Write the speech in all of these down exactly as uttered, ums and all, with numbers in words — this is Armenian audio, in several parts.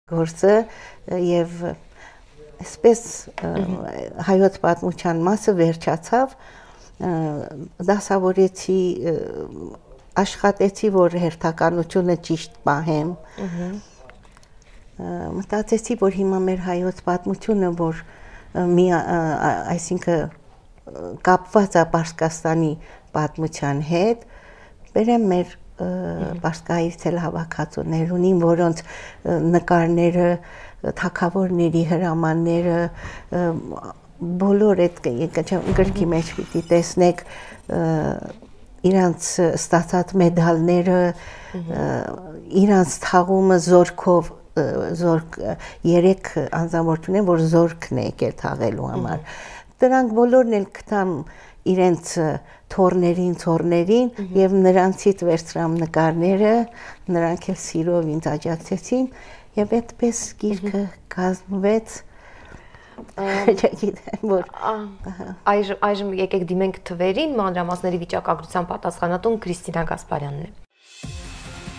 Գործը եւ այսպես հայոց պատմության մասը վերջացավ, դասավորեցի, աշխատեցի, որ հերթականությունը ճիշտ պահեմ, մտածեցի, որ հիմա մեր հայոց պատմությունը, որ մի, այսինքն կապված է Պարսկաստանի պատմության հետ, բերեմ մեր Պարսկահայ ցելհավաքածուներ ունին, որոնց նկարները, թագավորների հրամանները, բոլոր այդ գրքի մեջ պիտի տեսնեք իրանց ստացած մեդալները, իրանց թաղումը զորքով, զորք երեք անձնավորություն են, որ զորքն է եկել թաղելու համար։ Դրանք բոլորն էլ գտամ իրենց թորներին, ցորներին եւ նրանցից վերցրամ նկարները, նրանք էլ սիրով ինձ աջակցեցին եւ այդպես գիրքը կազմվեց։ Չգիտեմ որ այժմ այժմ եկեք դիմենք թվերին, մանրամասների վիճակագրության պատասխանատուն Կրիստինա Գասպարյանն է։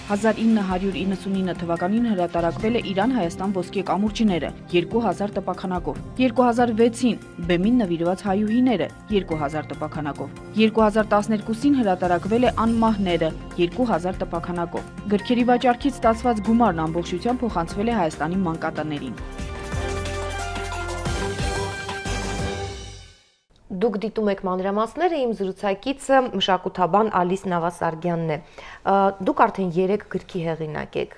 հազար ինը հարյուր իննսունինը թվականին հրատարակվել է Իրան-Հայաստան ոսկե կամուրջները երկու հազար տպաքանակով, երկու հազար վեցին բեմին նվիրված հայուհիները երկու հազար տպաքանակով, երկու հազար տասներկուսին հրատարակվել է Անմահները երկու հազար տպաքանակով։ Գրքերի վաճառքից ստացված գումարն ամբողջությամբ փոխանցվել է Հայաստանի մանկատներին։ Դուք դիտում եք մանրամասները, իմ զրուցակիցը մշակութաբան Ալիս Նավասարգյանն է։ Դուք արդեն երեք գրքի հեղինակ եք։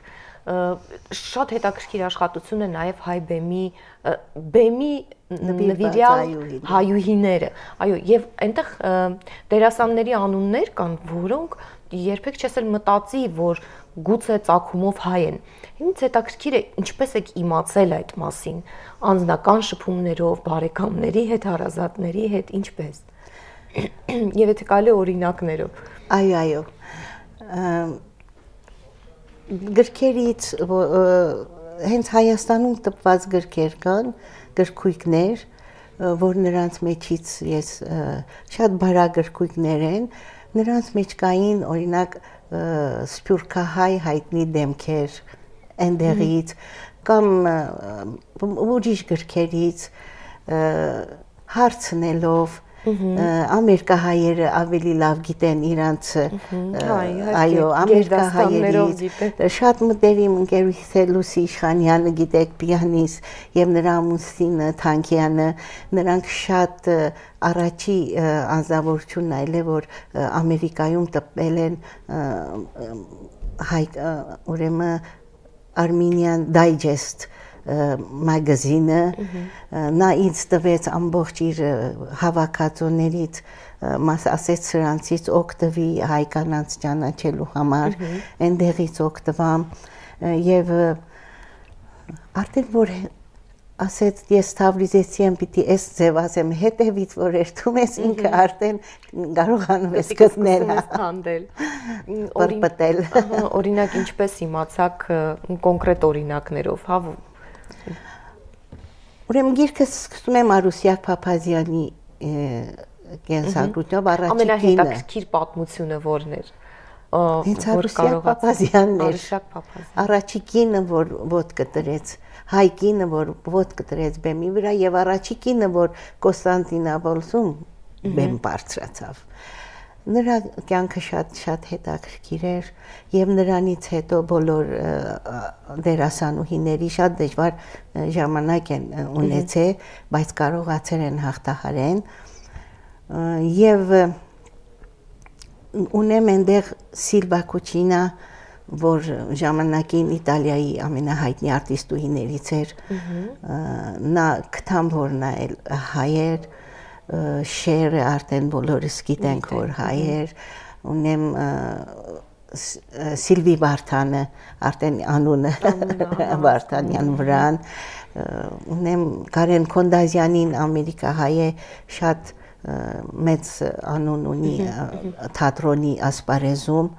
Շատ հետաքրքիր աշխատություն է նաև հայ բեմի բեմի նվիրյալ հայուհիները։ Այո, եւ այնտեղ դերասանների անուններ կան, որոնք երբեք չես էլ մտածի, որ գուցե ծագումով հայ են։ Ինձ հետաքրքիր է ինչպես եք իմացել այդ մասին, անձնական շփումներով, բարեկամների հետ, հարազատների հետ, ինչպես։ Եվ եթե կարելի օրինակներով։ Այո, այո։ Գրքերից հենց Հայաստանում տպված գրքեր կան, գրքույկներ, որ նրանց մեջից ես շատ բարագրքույկներ են, նրանց մեջ կային օրինակ սփյուռքահայ հայտնի դեմքեր այնտեղից կամ ուրիշ գրքերից հարցնելով ամերիկահայերը ավելի լավ գիտեն իրանց այո ամերիկահայերից շատ մտերիմ ընկերուհիս է Լուսի Իշխանյանը գիտեք պիանիստ եւ նրա ամուսինը Թանկյանը նրանք շատ առաջի անձնավորությունն այլ է որ Ամերիկայում տպել են հայ ուրեմն Armenian Digest մագազինը նա ինձ տվեց ամբողջ իր հավաքածուներից մաս ասեց սրանցից օգտվի հայ կանանց ճանաչելու համար այնտեղից օգտվամ եւ արդեն որ ասեց ես Թավրիզեցի եմ պիտի էս ձև ասեմ հետևից որ երթում ես ինքը արդեն կարողանում ես գտնել հանդել պրպտել օրինակ ինչպես իմացաք կոնկրետ օրինակներով հա ուրեմն գիրքը սկսում եմ Արուսյակ Փափազյանի կենսագրությամբ առաջին ամենահետաքրքիր պատմությունը որն էր հենց Արուսյակ Փափազյանն էր առաջի կինը որ ոտքը դրեց հայ կինը որ ոտքը դրեց բեմի վրա եւ առաջի կինը որ Կոստանդինապոլսում բեմ բարձրացավ նրա կյանքը շատ շատ հետաքրքիր էր եւ նրանից հետո բոլոր դերասանուհիների շատ դժվար ժամանակ են ունեցել բայց կարողացել են հաղթահարեն եւ ունեմ այնտեղ Սիլվա Կուչինա որ ժամանակին Իտալիայի ամենահայտնի արտիստուհիներից էր նա գտամ որ նա էլ հայ էր շերը արդեն բոլորս գիտենք որ հայ էր ունեմ Սիլվի Վարդանը արդեն անունը Վարդանյան վրան ունեմ Կարեն Քոնդազյանին ամերիկահայ է շատ մեծ անուն ունի թատրոնի ասպարեզում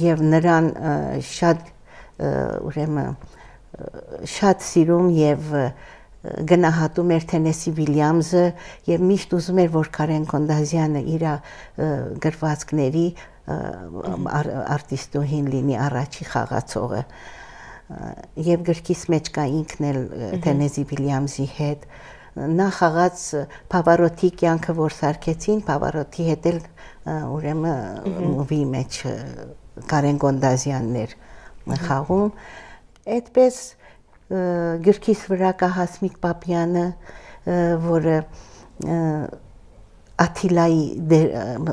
եւ նրան շատ ուրեմն շատ սիրում եւ գնահատում էր Թենեսի Վիլյամսը եւ միշտ ուզում էր որ Կարեն Քոնդազյանը իր գրվածքների արտիստուհին լինի առաջի խաղացողը եւ գրքիս մեջ կա ինքն էլ Թենեզի Վիլյամսի հետ նա խաղաց Փավարոտի կյանքը որ սարքեցին Փավարոտի հետ էլ ուրեմն մուվի մեջ Կարեն Գոնդազյանն էր խաղում այդպես գրքիս վրա կա Հասմիկ Պապյանը որը Աթիլայի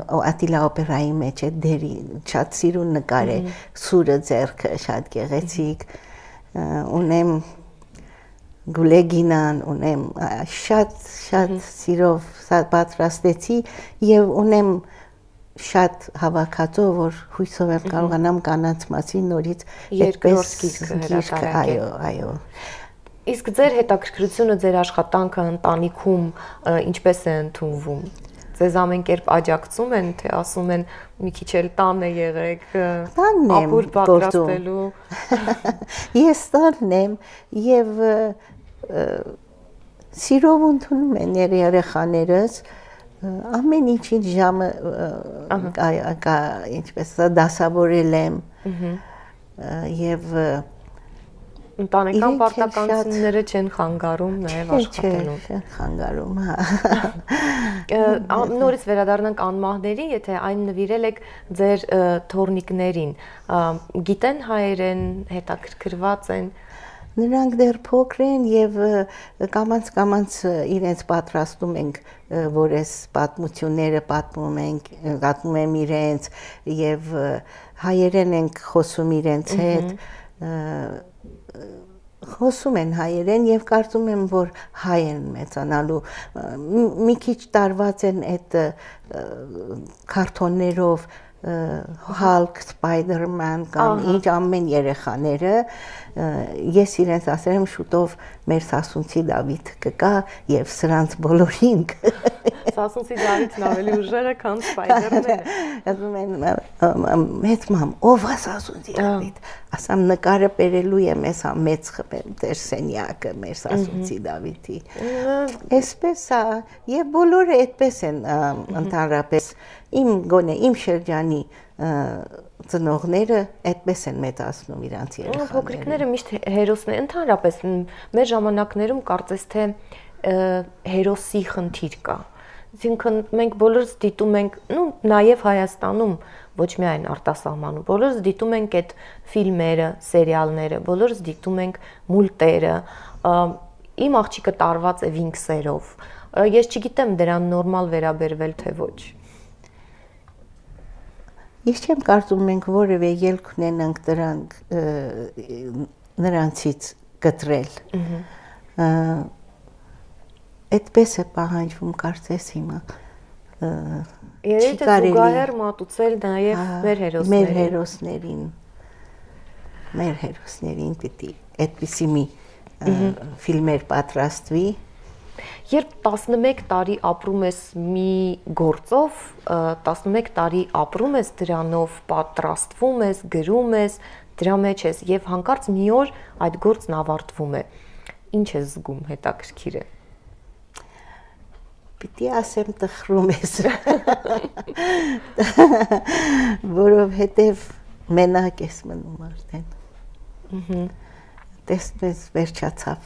Աթիլա օպերայի մեջ է դերի շատ սիրուն նկար է սուրը ձեռքը շատ գեղեցիկ ունեմ Գուլեգինան ունեմ շատ շատ սիրով պատրաստեցի եւ ունեմ շատ հավաքածո որ հույսով եմ կարողանամ կանանց մասին նորից երկրորդ գիրքը հրատարակել այո այո Իսկ ձեր հետաքրքրությունը ձեր աշխատանքը ընտանիքում ինչպես է ընդունվում Ձեզ ամեն կերպ աջակցում են, թե ասում են մի քիչ էլ տան է եղեք, ապուր պատրաստելու։ Ես տանն եմ եւ սիրով ընդունում են երեխաներս, ամեն ինչին ժամը կա, ինչպես դասավորել եմ եւ Ընտանեկան պարտականությունները չեն խանգարում նաև աշխատելուն։ Չեն խանգարում, հա։ Նորից վերադառնանք անմահներին, եթե այն նվիրել եք ձեր թոռնիկներին, գիտեն հայերեն, հետաքրքրված են։ Նրանք դեռ փոքր են եւ կամաց-կամաց իրենց պատրաստում ենք, որ այս պատմությունները պատմում ենք, պատմում եմ իրենց եւ հայերեն ենք խոսում իրենց հետ խոսում են հայերեն եւ կարծում եմ որ հայ են մեծանալու մի քիչ տարված են այդ քարտոններով Hulk, Spider-Man կամ ինչ ամեն երեխաները ես իրենց ասել եմ շուտով մեր Սասունցի Դավիթ կգա եւ սրանց բոլորին Սասունցի Դավիթն ավելի ուժեղ է քան Spider-Man-ը ասում են մեծ մամ ով է Սասունցի Դավիթ ասամ նկարը բերելու եմ ես մեծ դեր սենյակը մեր Սասունցի Դավիթի այսպես է եւ բոլորը այդպես են ընդհանրապես իմ գոնե իմ շրջանի ծնողները այդպես են մեծացնում իրանց երեխաները։ Փոքրիկները միշտ հերոսներ ընդհանրապես մեր ժամանակներում կարծես թե հերոսի խնդիր կա։ Այսինքն մենք բոլորս դիտում ենք, նու նաև Հայաստանում, ոչ միայն արտասահմանում, բոլորս դիտում ենք այդ ֆիլմերը, սերիալները, բոլորս դիտում ենք մուլտերը։ Իմ աղջիկը տարված է վինքսերով։ Ես չգիտեմ դրան նորմալ վերաբերվել թե ոչ։ Ես չեմ կարծում մենք որևէ ելք ունենանք դրանք նրանցից կտրել։ Այդպես է պահանջվում կարծես հիմա։ Երևի թե զուգահեռ մատուցել նաև մեր հերոսներին։ Մեր հերոսներին։ Մեր հերոսներին պիտի այդպիսի մի ֆիլմեր պատրաստվի։ Երբ տասնմեկ տարի ապրում ես մի գործով, տասնմեկ տարի ապրում ես դրանով, պատրաստվում ես, գրում ես, դրա մեջ ես եւ հանկարծ մի օր այդ գործն ավարտվում է։ Ինչ ես զգում, հետաքրքիր է։ Պիտի ասեմ տխրում ես։ Որովհետեւ մենակ ես մնում արդեն։ Տեսնես վերջացավ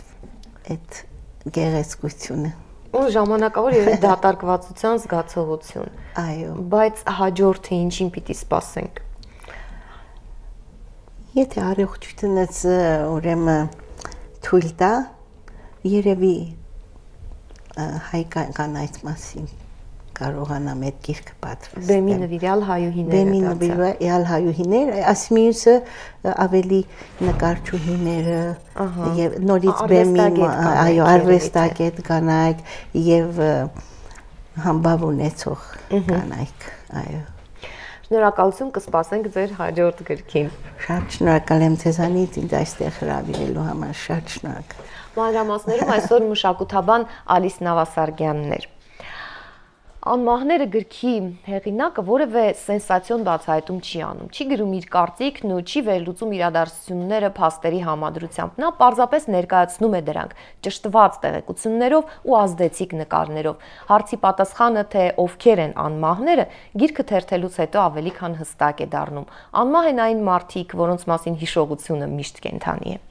այդ գեղեցկությունը ու ժամանակավոր երևի դատարկվածության զգացողություն այո բայց հաջորդը ինչին պիտի սպասենք եթե առողջությունս ուրեմն թույլ տա երևի հայ կանայց մասին կարողանամ այդ գիրքը պատրաստել Բեմի նվիրյալ հայուհիները Բեմի նվիրյալ հայուհիներ ասմիուսը ավելի նկարչուհիները եւ նորից բեմի այո արվեստագետ կանայք եւ համբավ ունեցող կանայք այո Շնորհակալություն կսպասենք ձեր հաջորդ գրքին Շատ շնորհակալ եմ ձեզանից ինձ այստեղ հրավիրելու համար շատ շնորհակալ Մանրամասներում այսօր մշակութաբան Ալիս Նավասարգյանն էր Անմահները գրքի հեղինակը որևէ սենսացիոն բացահայտում չի անում, չի գրում իր կարծիքն ու չի վերլուծում իրադարձությունները փաստերի համադրությամբ։ Նա պարզապես ներկայացնում է դրանք ճշտված տեղեկություններով ու ազդեցիկ նկարներով։ Հարցի պատասխանը, թե ովքեր են անմահները, գիրքը թերթելուց հետո ավելի քան հստակ է դառնում։ Անմահ են այն մարդիկ, որոնց մասին հիշողությունը միշտ կենդանի է։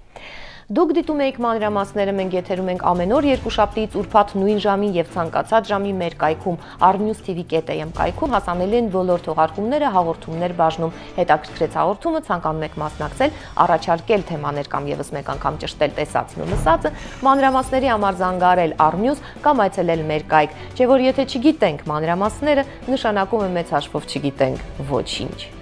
Դուք դիտում եք մանրամասները, մենք եթերում ենք ամեն օր երկուշաբթիից ուրբաթ նույն ժամին եւ ցանկացած ժամի մեր կայքում arnews t v dot a m կայքում հասանելի են բոլոր թողարկումները, հաղորդումներ բաժնում։ Հետաքրքրեց հաղորդումը, ցանկանում եք մասնակցել, առաջարկել թեմաներ կամ եւս մեկ անգամ ճշտել տեսածն ու լսածը, մանրամասների համար զանգարել Arnews կամ այցելել մեր կայք։ Չէ՞ որ եթե չգիտենք մանրամասները, նշանակում է մեծ հաշվով չգիտենք ոչինչ։